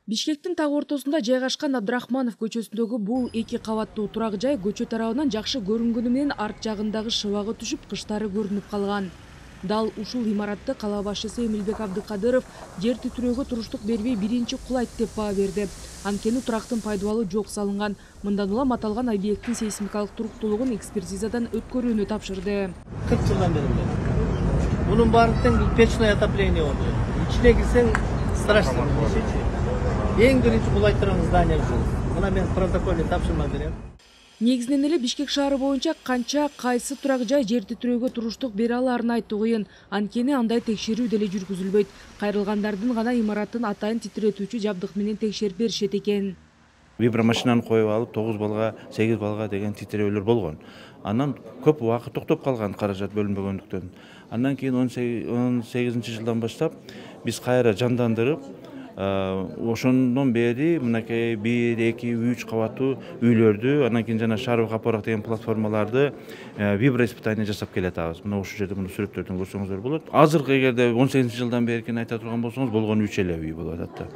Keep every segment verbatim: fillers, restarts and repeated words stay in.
Бишкектин так ортосунда жайгашкан Абдрахманов көчөсүндөгү бул эки кабаттуу турак жай көчө тарабынан жакшы көрүнгөнү менен арт жагындагы шыбагы түшүп, кыштары көрүнүп калган. Дал ушул имаратты кала башчысы Эмилбек Абдыкадыров жер титирөөгө туруштук бербей биринчи кулайт деп баа берди. Анткени турактын пайдубалы жок салынган. Мындан улам аталган объекттин сейсмикалык туруктуулугун экспертизадан өткөрүүнү тапшырды. кырк жылдан бери. Мунун баардыгын печное отопление болду. Ичине кирсең страшно. Эң биринчи кулай турган здание ушул. Мына мен протоколду тапшырма берем. Негизинен эле Бишкек шаары боюнча канча кайсы турак жай жер титирөөгө туруштук бере алаарын айтуу кыйын. Анткени андай текшерүү деле жүргүзүлбөйт. Кайрылгандардын гана имараттын атайын титиретүүчү жабдык менен текшерип беришет экен. Вибромашинаны коюп алып тогуз балга, сегиз балга деген титирөөлөр болгон. Анан көп убакыт токтоп калган каражат бөлүнбөгөндүктөн. Андан кийин он сегизинчи жылдан баштап биз кайра жандандырып, ошондон бери мынакей бир, эки, үч кабаттуу үйлөрдү, андан кийин жана шаровый капорак деген платформаларды виброиспытание жасап келатабыз. Мына ушул жерде муну сүрөттөрдөн көрсөңүздөр болот. Азыркы эгерде он сегизинчи жылдан беркини айта турган болсоңуз, болгону үч эле үй болуп атат.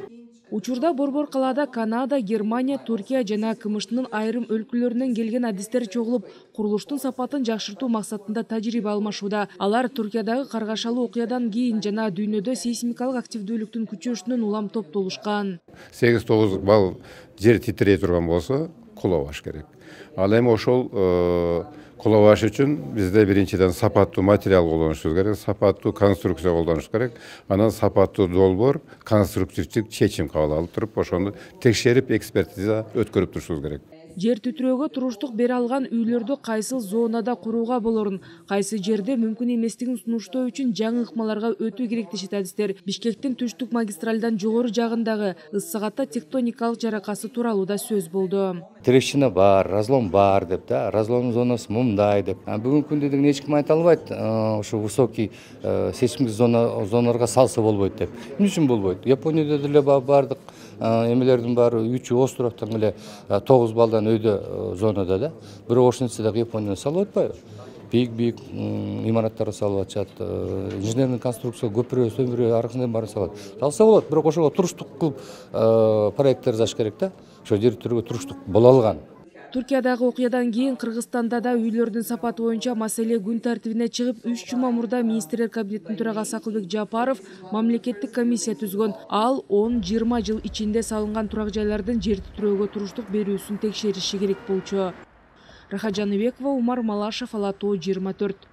Учурда борбор калаада Канада, Германия, Туркия жана КМШнын айрым өлкөлөрүнөн келген адистер чогулуп, курулуштун сапатын жакшыртуу максатында тажрыйба алмашууда. Алар Туркиядагы каргашалуу окуядан кийин жана дүйнөдө сейсмикалык активдүүлүктүн күчөшүнөн улам топтолушкан. сегиз тогуз балл жер титирей турган болсо, кулабаш керек. Ал эми ошол кулабаш үчүн бизде биринчиден сапаттуу материал колдонушубуз керек, сапаттуу конструкция колдонуш керек, анан сапаттуу долбоор, конструктивдик чечим кабыл алып туруп, ошону текшерип, экспертиза өткөрүп турушубуз керек. Жер титирөөгө туруштук бере алган үйлөрдү кайсыл зонада курууга болорун, кайсы жерде мүмкүн эместигин сунуштоо үчүн жаңы ыкмаларга өтүү керек дешет адистер. Бишкектин түштүк магистралдан жогору жагындагы ыс-сагатта тектоникалык жаракасы тууралуу да сөз болду. Трещина бар, разлом бар деп да, разлом зонасы мындай деп. Бүгүнкү күндө деген эч ким айта албайт, ошо высокий сейсмик зона зоналарга салса болбойт деп. Эмне үчүн болбойт? Японияда деле бардык эмелердин баары үчү оз турактан эле тогуз балдан өйдө зонада да. Бирок ошентсе дагы Японияда салып атпайбы? Бийик-бийик имараттарды салып атышат, инженерный конструкция көпүрө, сөмүрө, аркысынан баарын салат. Салса болот, бирок ошого туруштук кылып проекттер жазыш керек да. Ошо жер титирөөгө туруштук боло алган. Туркиядагы окуядан кийин Кыргызстанда да үйлөрдүн сапаты боюнча маселе күн тартибине чыгып, үч жума мурда министрлер кабинетинин төрагасы Акылбек Жапаров мамлекеттик комиссия түзгөн. Ал он жыйырма жыл ичинде салынган турак жайлардын жер титирөөгө туруштук берүүсүн текшериши керек болчу. Рахат Жаныбекова, Умар Малашев, Ала Тоо жыйырма төрт.